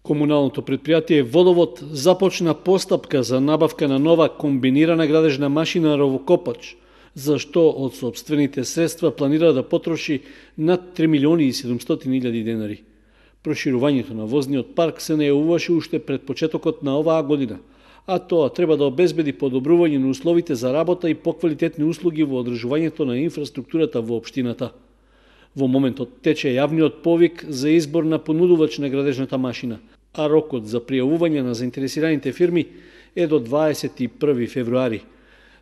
Комуналното предпријатие Водовод започна постапка за набавка на нова комбинирана градежна машина ровокопач, за што од сопствените средства планира да потроши над 3.700.000 денари. Проширувањето на возниот парк се најавуваше уште пред почетокот на оваа година, а тоа треба да обезбеди подобрување на условите за работа и поквалитетни услуги во одржувањето на инфраструктурата во општината. Во моментот тече јавниот повик за избор на понудувач на градежната машина, а рокот за пријавување на заинтересираните фирми е до 21 февруари.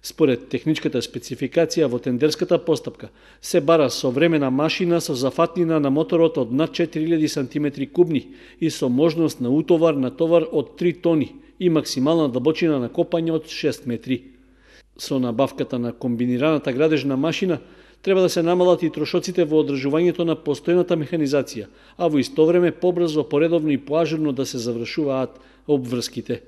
Според техничката спецификација во тендерската постапка се бара современа машина со зафатнина на моторот од над 4000 см кубни и со можност на утовар на товар од 3 тони и максимална длабочина на копање од 6 метри. Со набавката на комбинираната градежна машина треба да се намалат и трошоците во одржувањето на постојната механизација, а во исто време побрзо, поредовно и поажурно да се завршуваат обврските.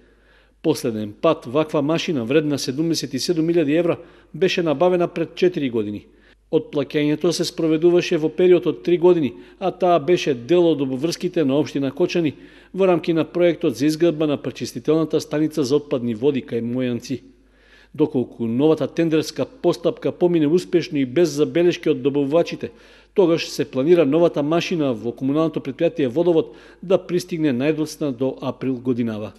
Последен пат ваква машина вредна 77.000 евра беше набавена пред 4 години. Отплаќањето се спроведуваше во период од 3 години, а таа беше дел од обврските на општина Кочани во рамки на проектот за изградба на пречистителната станица за отпадни води кај Мојанци. Доколку новата тендерска постапка помине успешно и без забелешки од добавувачите, тогаш се планира новата машина во комуналното предпријатие Водовод да пристигне најдоцна до април годинава.